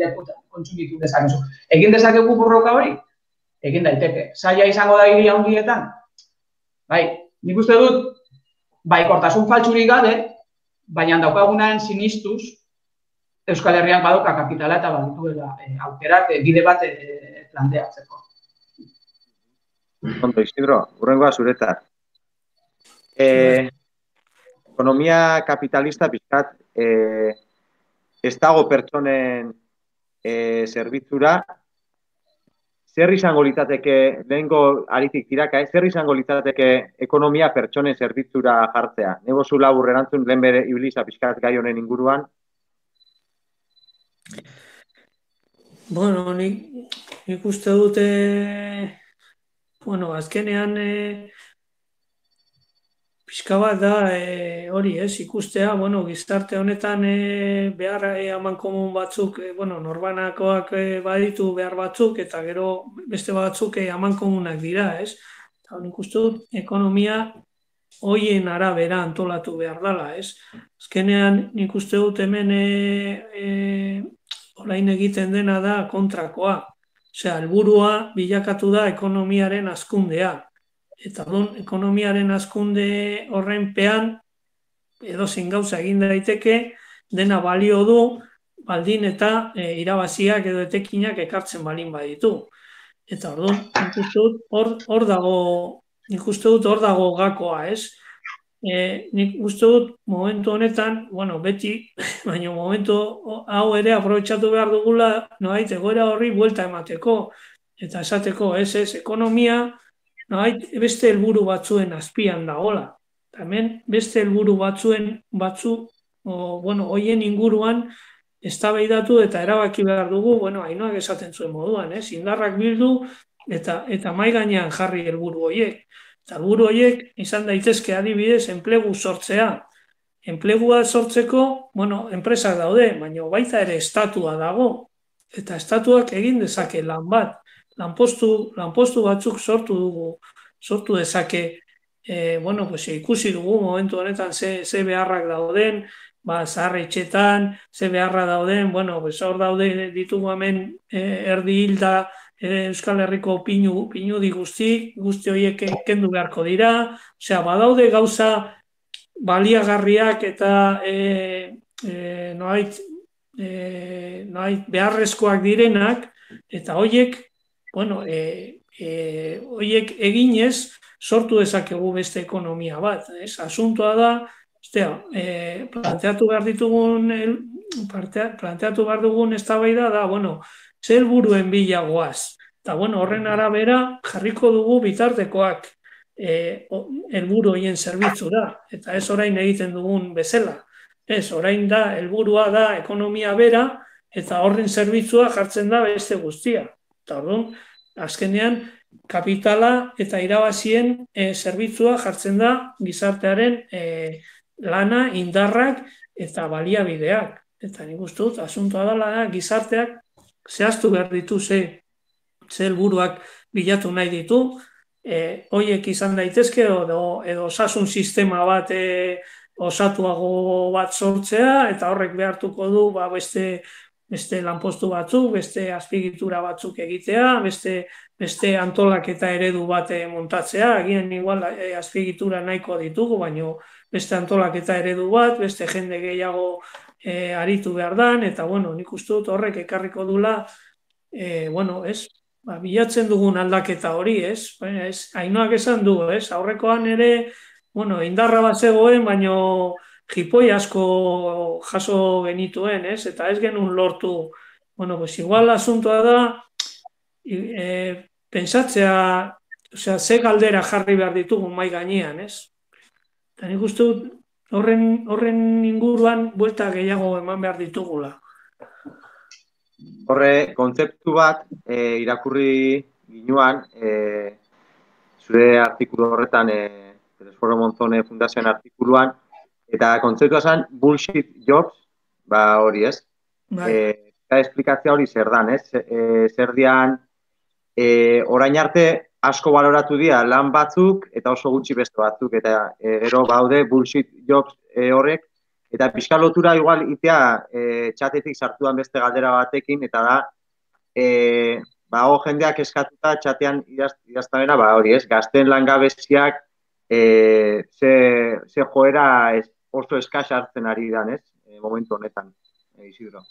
lekutan kontsumitu dezakezu. Egin dezakegu borroka hori? Egin daiteke. Zaila izango da hiri handietan? Bai, nik uste dut, baikortasun faltsurik gabe, baina daukagunan sinistuz, Euskal Herrian badoka kapitala eta badituela e, aukerak e, bide bat e, planteatzeko. Ondo, Isidro, hurrengoa zuretzat. Eh, ekonomia kapitalista pixkat eh, ez dago pertsonen eh, zerbitzura. Zer izango litzateke, lehenko aritik tiraka, eh? Zer izango litzateke ekonomia pertsonen zerbitzura jartzea? Nego zu labur erantzun lehen bere ibiliza pixkat gai honen inguruan? Bueno, nik, nik uste dute, bueno, azkenean e, pixka bat da e, hori, ez, ikustea, bueno, gizarte honetan e, behar e, amankomun batzuk, e, bueno, norbanakoak e, baditu behar batzuk, eta gero beste batzuk e, amankomunak dira, ez? Eta nik uste dut, ekonomia hoien arabera antolatu behar dela, ez? Azkenean nik uste dut hemen e, e, orain egiten dena da kontrakoa. Osea, helburua bilakatu da ekonomiaren hazkundea. Eta don, ekonomiaren hazkunde horrenpean edozein gauza egin daiteke, dena balio du, baldin eta e, irabaziak edo etekinak ekartzen balin baditu. Eta orduan, nik uste dut hor, hor dago, nik uste dut hor dago gakoa, ez? E, nik uste dut momentu honetan, bueno, beti, baina momentu hau ere aprobetxatu behar dugula, noait, egoera horri buelta emateko, eta esateko, ez, ez, ekonomia, noait, beste helburu batzuen azpian dagola. Hemen beste helburu batzuen batzu, o, bueno, hoien inguruan eztabaidatu eta erabaki behar dugu, bueno, Ainoak esaten zuen moduan, ez, indarrak bildu eta eta mahai gainean jarri helburu horiek. Eta helburu horiek izan daitezke adibidez enplegu sortzea. Enplegua sortzeko, bueno, enpresak daude, baina baita ere estatua dago. Eta estatuak egin dezake lan bat. Lanpostu, lanpostu batzuk sortu dugu, sortu dezake, e, bueno, pues, ikusi dugu momentu honetan ze, ze beharrak dauden, ba, zaharretxetan, ze beharra dauden, bueno, pues, hor daude ditugu hemen e, erdi hilda, Euskal Herriko pinu, pinudi guzti, guzti horiek kendu beharko dira, osea, badaude gauza baliagarriak eta e, e, noait, e, noait beharrezkoak direnak, eta horiek, bueno, e, e, horiek eginez sortu dezakegu beste ekonomia bat, ez? Asuntoa da, ostea, e, planteatu behar ditugun, planteatu behar dugun eztabaida da, bueno, zer helburuen bila goaz. Eta, bueno, horren arabera jarriko dugu bitartekoak e, helburu horien zerbitzura. Eta ez orain egiten dugun bezala. Ez, orain da, helburua da ekonomia bera, eta horren zerbitzua jartzen da beste guztia. Eta orduan, azkenean, kapitala eta irabazien e, zerbitzua jartzen da gizartearen e, lana, indarrak eta baliabideak. Eta nik uste dut, asuntoa dela da, gizarteak zehaztu behar ditu ze, ze helburuak bilatu nahi ditu, e, hoiek izan daitezke edo, edo osasun sistema bat e, osatuago bat sortzea, eta horrek behartuko du ba, beste, beste lanpostu batzuk, beste azpigitura batzuk egitea, beste, beste antolaketa eredu bat montatzea, agian igual e, azpigitura nahiko ditugu, baina beste antolaketa eredu bat, beste jende gehiago E, aritu behar dan, eta, bueno, nik uste dut horrek ekarriko dula, e, bueno, ez, ba, bilatzen dugun aldaketa hori, ez, baina ez, Ainoak esan du, ez, aurrekoan ere, bueno, indarra bat zegoen, baina jipoi asko jaso genituen, ez, eta ez genuen lortu, bueno, pues igual asuntoa da, e, pensatzea, osea, ze galdera jarri behar ditugun mai gainean, ez, eta nik uste dut, horren, horren inguruan buelta gehiago eman behar ditugula. Horre, kontzeptu bat e, irakurri ginuan, e, zure artikulu horretan, e, Telesforo Monzone Fundazioan artikuluan, eta kontzeptua zen bullshit jobs, ba hori ez. Bai. E, eta esplikatzea hori zer dan, ez? E, zer dian, e, orain arte asko baloratu dira lan batzuk eta oso gutxi beste batzuk, eta e, gero baude bullshit jobs e, horrek, eta pixka lotura igual itea e, txatetik sartuan beste galdera batekin, eta da, e, ba, ho jendeak eskatuta txatean idaztabena, ba hori ez, gazten langabeziak e, ze, ze joera ez, oso eskas hartzen ari dan, ez, e, momentu honetan, e, Isidro.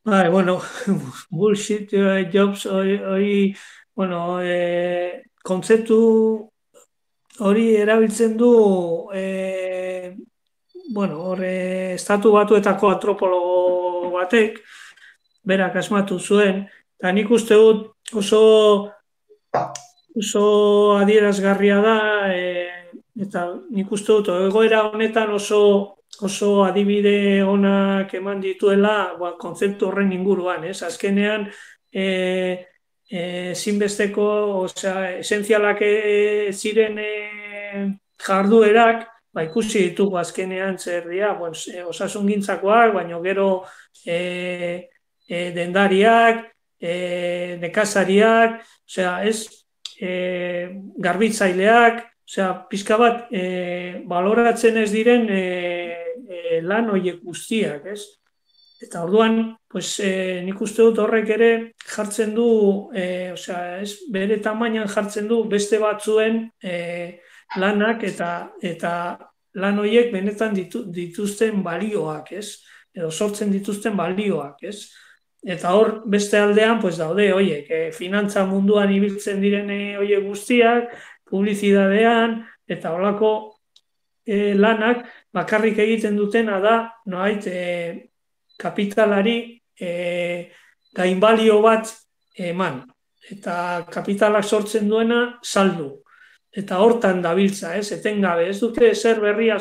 Bai, bueno, bullshit jobs hori, hori bueno, e, kontzeptu hori erabiltzen du, e, bueno, hori estatu batuetako antropologo batek, berak asmatu zuen, eta nik uste dut oso, oso adierazgarria da, e, eta nik uste dut egoera honetan oso, oso adibide onak eman dituela ba, kontzeptu horren inguruan, ez? Azkenean, e, E, zinbesteko, osea, esentzialak e, ziren e, jarduerak, ba, ikusi ditugu azkenean zer dira, bueno, e, osasungintzakoak, baina gero e, e, dendariak, e, nekazariak, osea, ez, e, garbitzaileak, osea, pixka bat, e, baloratzen ez diren e, e, lan horiek guztiak, ez? Eta orduan, pues, eh, nik uste dut horrek ere jartzen du, eh, osea, ez, bere tamainan jartzen du beste batzuen eh, lanak eta eta lan horiek benetan ditu, dituzten balioak, ez? Edo sortzen dituzten balioak, ez? Eta hor beste aldean, pues, daude horiek, eh, finantza munduan ibiltzen diren horiek guztiak, publizidadean, eta holako eh, lanak bakarrik egiten dutena da, noait, eh, kapitalari e, gainbalio bat eman. Eta kapitalak sortzen duena saldu. Eta hortan dabiltza, ez, etengabe. Ez dute zer berria,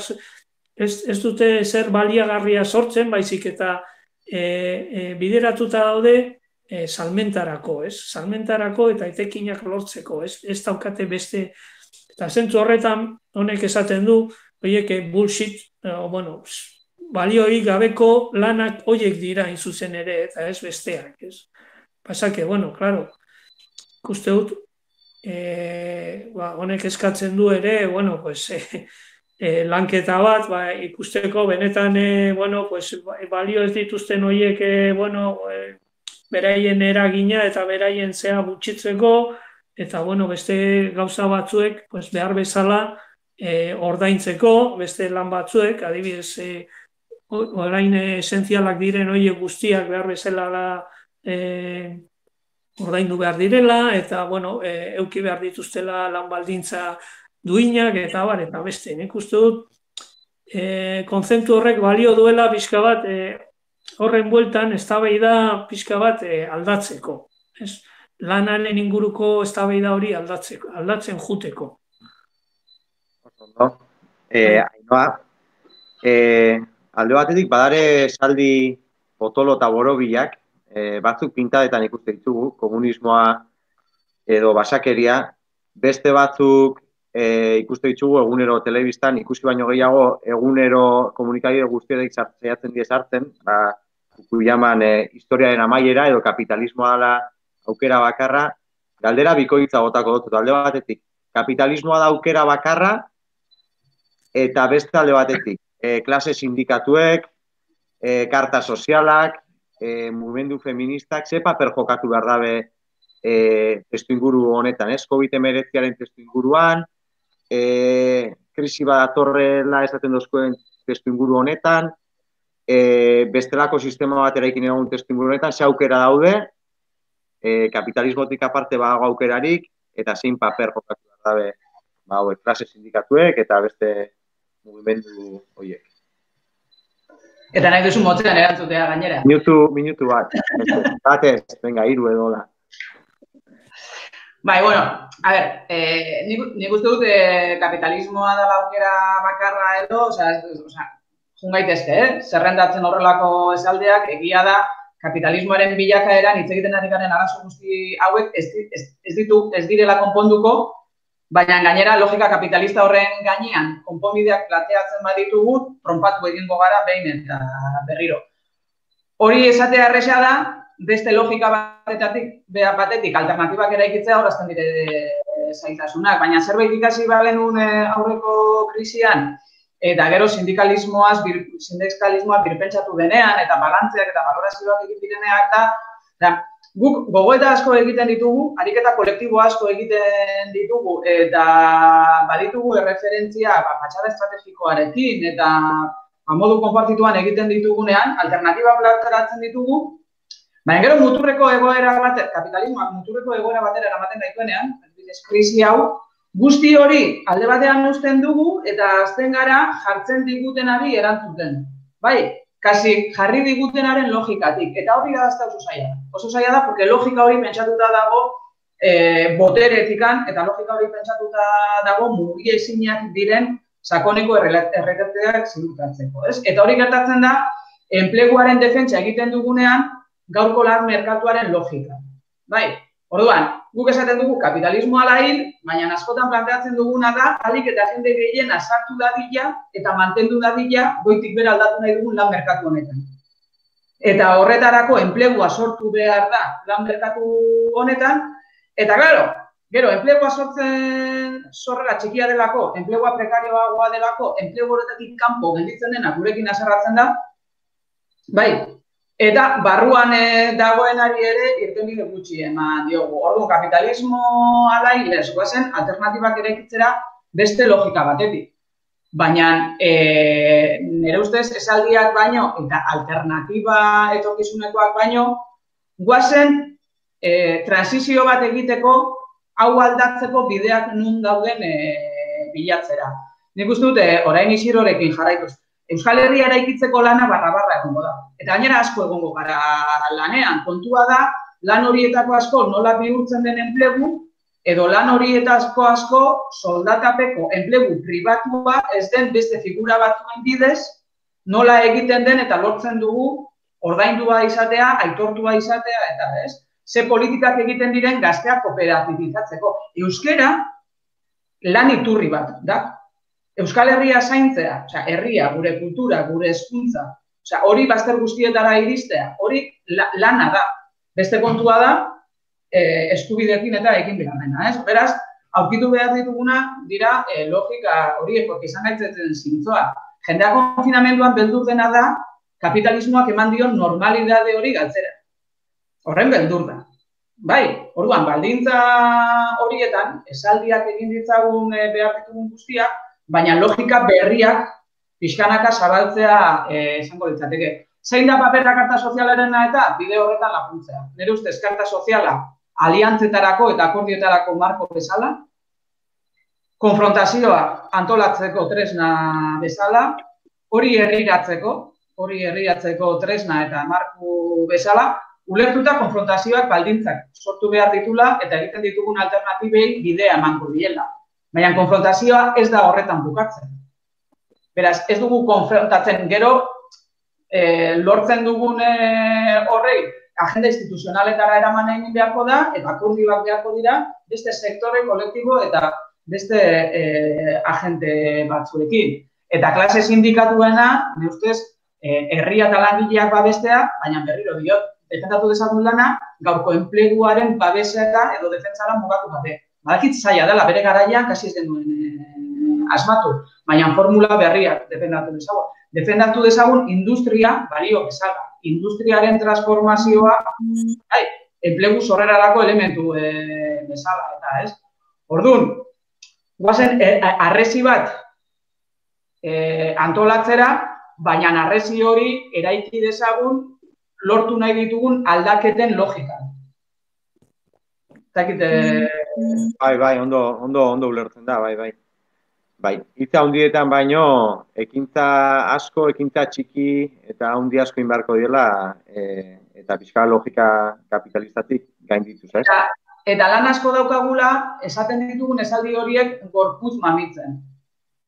ez, ez dute zer baliagarria sortzen, baizik eta e, e, bideratuta daude e, salmentarako, ez? Salmentarako eta etekinak lortzeko, ez? Ez daukate beste. Eta zentzu horretan honek esaten du, horiek bullshit, o, bueno, balioik gabeko lanak horiek dira zuzen ere, eta ez besteak, ez? Pasake, bueno, claro, ikuste dut, e, ba, honek eskatzen du ere, bueno, pues, e, e, lanketa bat, ba, ikusteko benetan, e, bueno, pues, balio ez dituzten horiek, e, bueno, e, beraien eragina eta beraien zea gutxitzeko, eta, bueno, beste gauza batzuek, pues, behar bezala, e, ordaintzeko, beste lan batzuek, adibidez, e, orain esentzialak diren horiek guztiak behar bezala da e, ordaindu behar direla, eta, bueno, e, euki behar dituztela lan baldintza duinak, eta bar, eta beste. Nik uste dut, e, kontzeptu horrek balio duela pixka bat, e, horren bueltan eztabaida pixka bat e, aldatzeko. Ez? Lanaren inguruko eztabaida hori aldatzeko, aldatzen juteko. No? Eh, Ainhoa, eh, alde batetik, badare saldi potolo eta borobilak, e, batzuk pintadetan ikuste ditugu, komunismoa edo basakeria, beste batzuk e, ikuste ditugu egunero telebistan, ikusi baino gehiago egunero komunikabide guztiak saiatzen die sartzen, ba, kuiaman e, historiaren amaiera edo kapitalismoa dela aukera bakarra, galdera bikoitza botako dut, alde batetik, kapitalismoa da aukera bakarra, eta beste alde batetik, E, klase sindikatuek, e, karta sozialak, e, mugimendu feministak, ze paper jokatu behar dabe e, testu inguru honetan, ez? covid hemeretziaren testu inguruan, e, krisi badatorrela esaten dozkoen testu inguru honetan, e, bestelako sistema bat eraikin egon testu inguru honetan, ze aukera daude, e, kapitalismotik aparte badago aukerarik, eta zein paper jokatu behar dabe, ba, hauek, klase sindikatuek, eta beste mugimendu horiek. Eta nahi duzu motzean erantzutea gainera. Minutu, minutu bat. Batez, venga, hiru edo da. Bai, bueno, a ber, eh, nik, nik uste dut eh, kapitalismoa da aukera bakarra edo, osea, osea, jun gaitezke, eh? Zerrendatzen horrelako esaldeak, egia da, kapitalismoaren bilakaeran hitz egiten ari garen arazo guzti hauek ez, ez, ez ditu, ez direla konponduko, baina gainera logika kapitalista horren gainean konponbideak plateatzen baditugu, tronpatu egingo gara behin eta berriro. Hori esatea erresa da, beste logika batetatik, batetik alternatibak eraikitzea horazten dire zaitasunak, baina zerbait ikasi bagenuen aurreko krisian, eta gero sindikalismoaz, bir, sindikalismoa birpentsatu denean, eta balantzeak eta balorazioak egin direneak da, da, guk gogoeta asko egiten ditugu, ariketa kolektibo asko egiten ditugu, eta baditugu erreferentzia ba, patxada estrategikoarekin, eta modu konpartituan egiten ditugunean, alternatiba plazaratzen ditugu, baina gero muturreko egoera bat, kapitalismoak muturreko egoera batera eramaten gaituenean, krisi hau, guzti hori alde batean uzten dugu eta azten gara jartzen digutenari erantzuten. Bai, kasi jarri digutenaren logikatik, eta hori da oso zaila. Oso zaila da, porque logika hori pentsatuta dago e, boteretikan, eta logika hori pentsatuta dago mugiezinak diren sakoneko errealitateak ziurtatzeko, ez? Eta hori gertatzen da, enpleguaren defentsa egiten dugunean, gaurko lan merkatuaren logika. Bai, orduan, guk esaten dugu kapitalismoa ala hil, baina askotan planteatzen duguna da, alik eta jende gehiena sartu dadila eta mantendu dadila goitik bera aldatu nahi dugun lan merkatu honetan. Eta horretarako enplegua sortu behar da lan merkatu honetan, eta claro, gero, enplegua sortzen zorrela txikia delako, enplegua prekarioagoa delako, enplegu horretatik kanpo gelditzen dena gurekin haserratzen da, bai, eta barruan e, dagoenari ere irtenbide gutxi eman diogu. Orduan, kapitalismo ala hilez, guazen, alternatibak eraikitzera beste logika batetik. Baina, e, nire ustez, esaldiak baino eta alternatiba etorkizunekoak baino, guazen, e, transizio bat egiteko hau aldatzeko bideak nun dauden e, bilatzera. Nik uste dute, orain Isirorekin jarraituz, Euskal Herria eraikitzeko lana barra-barra egongo da. Eta gainera asko egongo gara lanean. Kontua da, lan horietako asko nola bihurtzen den enplegu, edo lan horietako asko soldatapeko enplegu pribatua ez den beste figura batzuen bidez, nola egiten den eta lortzen dugu ordaindua izatea, aitortua izatea, eta ez? Ze politikak egiten diren gazteak kooperatibizatzeko. Euskera lan iturri bat da. Euskal Herria zaintzea, osea, herria, gure kultura, gure hezkuntza, osea, hori bazter guztietara iristea, hori la, lana da. Beste kontua da, eh, eskubideekin eta ekin behar dena, ez? Beraz, aurkitu behar dituguna dira eh, logika horiek, porque izan gaitzen zintzoa. Jendea konfinamenduan beldur dena da, kapitalismoak eman dion normalidade hori galtzera. Horren beldur da. Bai, orduan, baldintza horietan, esaldiak egin ditzagun eh, behar ditugun guztiak, baina logika berriak pixkanaka zabaltzea esango eh, litzateke. Zein da papera karta sozialarena eta bide horretan laguntzea. Nire ustez, karta soziala aliantzetarako eta akordioetarako marko bezala, konfrontazioa antolatzeko tresna bezala, hori herriratzeko, hori herriratzeko tresna eta marko bezala, ulertuta konfrontazioak baldintzak sortu behar ditula eta egiten ditugun alternatibei bidea emango diela. Baina konfrontazioa ez da horretan bukatzen. Beraz, ez dugu konfrontatzen gero, e, lortzen dugun e, horrei, agenda instituzionaletara eraman egin beharko da, eta akordioak beharko dira, beste sektore, kolektibo eta beste e, agente batzuekin. Eta klase sindikatuena, nire ustez, e, herria eta langileak babestea, baina berriro diot, defendatu dezagun lana, gaurko enpleguaren babesera edo defentsara mugatu gabe. Badakit zaila dela, bere garaian, kasi ez genuen eh, asmatu, baina formula berriak defendatu dezagun. Defendatu dezagun industria, balio bezala, industriaren transformazioa, ai, enplegu sorrerarako elementu eh, bezala, eta ez. Orduan, guazen, eh, arresi bat eh, antolatzera, baina arresi hori eraiki dezagun lortu nahi ditugun aldaketen logika. Bai, bai, ondo, ondo, ondo ulertzen da, bai, bai. Bai, hitza handietan baino, ekintza asko, ekintza txiki eta handi asko inbarko dela, e, eta pixka logika kapitalistatik gaindituz, ez? Eta, Eta lan asko daukagula, esaten ditugun esaldi horiek gorputz mamitzen.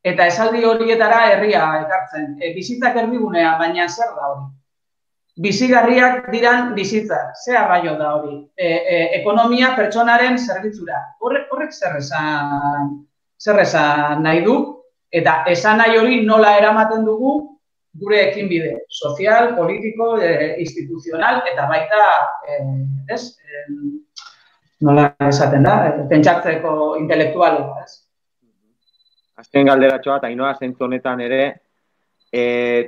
Eta esaldi horietara herria ekartzen. E, bizitzak erdigunean, baina zer da hori? Bizigarriak diran bizitzak, ze arraio da hori? E, e, ekonomia pertsonaren zerbitzura. Horrek, horrek zer esan, zer esan nahi du? Eta esan nahi hori nola eramaten dugu gure ekinbide sozial, politiko, e, instituzional, eta baita, e, ez? E, nola esaten da, pentsatzeko intelektualoa, ez? Azken galderatxoa, eta inoa zentzu honetan ere, e,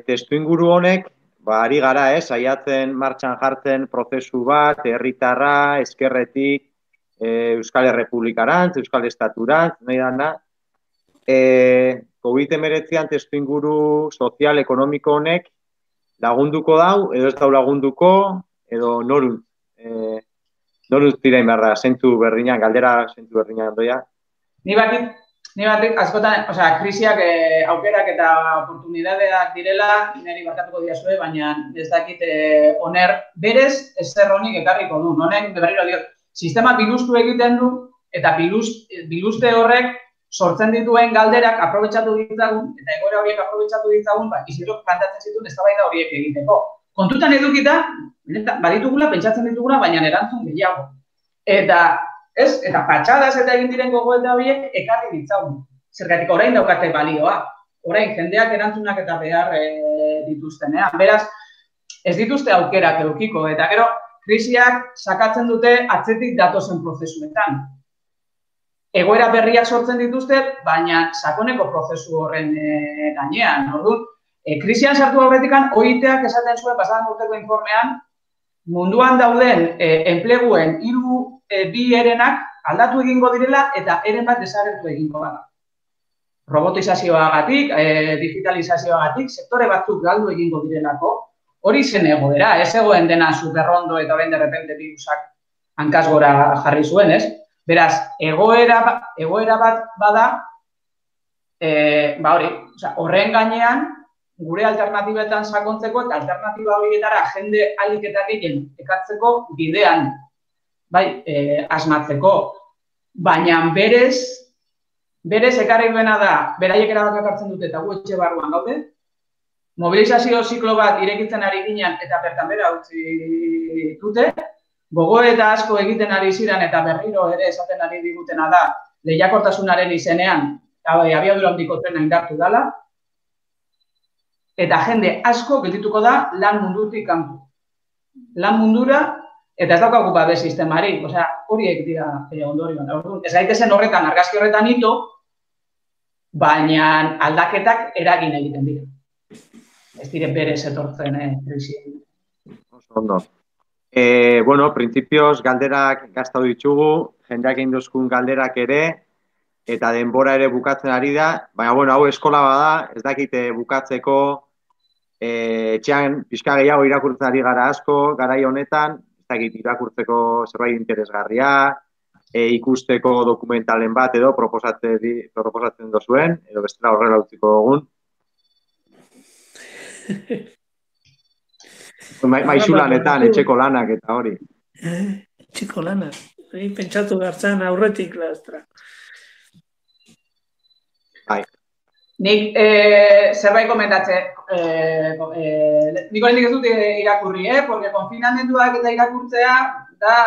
testu inguru honek, ba, ari gara, ez, saiatzen martxan jartzen prozesu bat, herritarra, ezkerretik, e, Euskal Errepublikarantz, Euskal Estaturantz, nahi dana, e, COVID hemeretzian testu inguru sozial, ekonomiko honek lagunduko dau, edo ez dau lagunduko, edo noruntz, e, noruntz dirain beharra, zentzu berdinan, galdera zentzu berdinan doia. Ni batik, ni batik, askotan, osea, krisiak eh, aukerak eta oportunidadeak direla, niri barkatuko diazue, baina ez dakit eh, oner berez ezer honik ekarriko du. Honek, berriro diot, sistema bilustu egiten du, eta bilust, biluste horrek sortzen dituen galderak aprobetxatu ditzagun, eta egoera horiek aprobetxatu ditzagun, ba, Isidrok plantatzen zituen eztabaida horiek egiteko. Kontutan edukita, baditugula, pentsatzen ditugula, baina erantzun gehiago. Eta, ez, eta patxadas eta egin diren gogoeta horiek ekarri ditzagun. Zergatik orain daukate balioa. Orain, jendeak erantzunak eta behar e, dituztenean. Beraz, ez dituzte aukerak edukiko, eta gero, krisiak sakatzen dute atzetik datozen prozesuetan. Egoera berriak sortzen dituzte, baina sakoneko prozesu horren e, gainean. Orduan, e, krisian sartu aurretikan, O I T-ak esaten zuen pasadan urteko informean, munduan dauden e, enpleguen hiru e, bi erenak aldatu egingo direla eta eren bat desagertu egingo gara. Robotizazioagatik, e, digitalizazioagatik, sektore batzuk galdu egingo direlako, hori zen egoera, ez egoen dena superrondo eta orain de repente virusak hankaz gora jarri zuen, ez? Beraz, egoera, egoera bat bada, e, ba hori, oza, horren gainean, gure alternatibetan sakontzeko eta alternatiba horietara jende alik eta gehien ekartzeko bidean, bai, e, asmatzeko. Baina berez, berez ekarri duena da, beraiek erabak hartzen dute eta gu etxe barruan gaude, mobilizazio ziklo bat irekitzen ari ginen eta bertan bera utzi dute, gogo eta asko egiten ari ziren eta berriro ere esaten ari digutena da lehiakortasunaren izenean abiadura handiko trena indartu dela eta jende asko geldituko da lan mundutik kanpo. Lan mundura eta ez daukagu babes sistemari, osea, horiek dira e, ondorioan. Ez gaitezen horretan, argazki horretan hito, baina aldaketak eragin egiten dira. Ez dire berez etortzen eh, krisi. Oso ondo. E, bueno, printzipioz galderak gaztatu ditugu, jendeak egin duzkun galderak ere, eta denbora ere bukatzen ari da, baina, bueno, hau eskola bada, ez dakite bukatzeko, e, etxean pixka gehiago irakurtzen ari gara asko, garai honetan, ez dakit irakurtzeko zerbait interesgarria, e, ikusteko dokumentalen bat edo proposatzen, proposatzen dozuen, edo bestela horrela utziko dugun. Maizu lanetan, etxeko lanak eta hori. Eh, etxeko lanak. Hei, pentsatu gartzan aurretik lastra. Bai. Nik eh, zerbait komentatze, eh, eh, nik horrendik ez dut irakurri, eh? Porque konfinamenduak eta irakurtzea da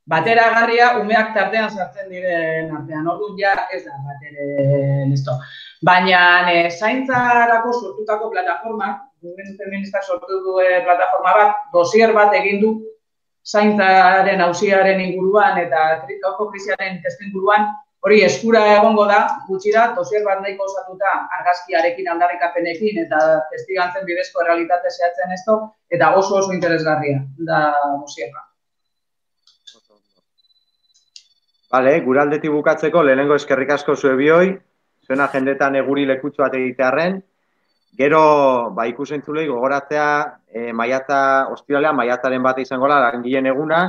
bateragarria umeak tartean sartzen diren artean. Orduan ja ez da batere nesto. Baina eh, zaintzarako sortutako plataformak, Mugimendu Feministak sortu du plataforma bat, dosier bat egin du zaintzaren auziaren inguruan eta gaurko krisiaren testu inguruan, hori eskura egongo da, gutxira, dosier bat nahiko osatuta argazkiarekin aldarrikapenekin eta testigantzen bidezko errealitate zehatzen esto, eta oso oso interesgarria da dosierra. Vale, gure aldetik bukatzeko, lehenengo eskerrik asko zue bioi, zuen agendetan eguri lekutsu bat egitearren. Gero, ba, ikusentzulei gogoratzea, e, maiatza, ostiralean, maiatzaren bat izango da, langileen eguna,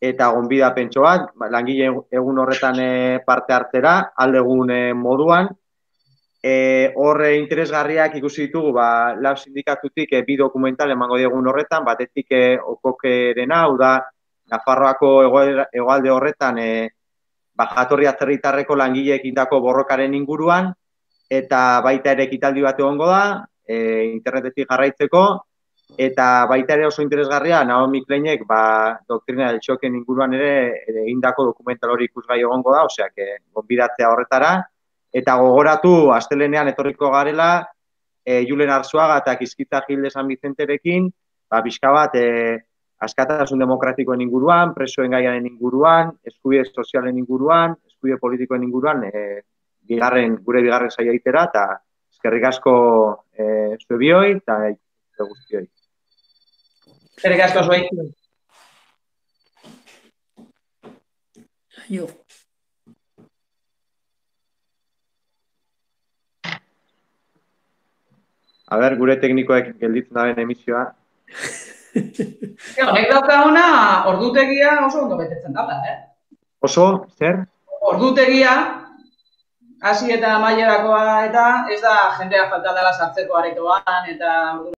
eta gonbida pentso bat, langileen egun horretan e, parte hartzera, aldegun e, moduan. E, horre interesgarriak ikusi ditugu, ba, lau sindikatutik e, bi dokumental emango diegun horretan, batetik e, okokerena, hau da, Nafarroako hegoalde horretan e, jatorri atzerritarreko langileek indako borrokaren inguruan, eta baita ere ekitaldi bat egongo da, e, internetetik jarraitzeko, eta baita ere oso interesgarria, Naomi Kleinek ba, doktrina del txoken inguruan ere egindako dokumental hori ikusgai egongo da, osea, gonbidatzea horretara, eta gogoratu, astelenean etorriko garela, e, Julen Arzuaga eta Kizkitza Gil de San Vicenterekin, ba, pixka bat, e, askatasun demokratikoen inguruan, presoen gaiaren inguruan, eskubide sozialen inguruan, eskubide politikoen inguruan, e, bigarren, gure bigarren saia itera, eta eskerrik asko e, zue bioi, eta e, guztioi. Eskerrik asko zuei. Jo. A ber, gure teknikoek gelditzen daben emisioa. Honek dauka ona, ordutegia oso ondo betetzen dala, eh? Oso, zer? Ordutegia, hasi eta amailerakoa eta ez da jendea falta dela sartzeko aretoan eta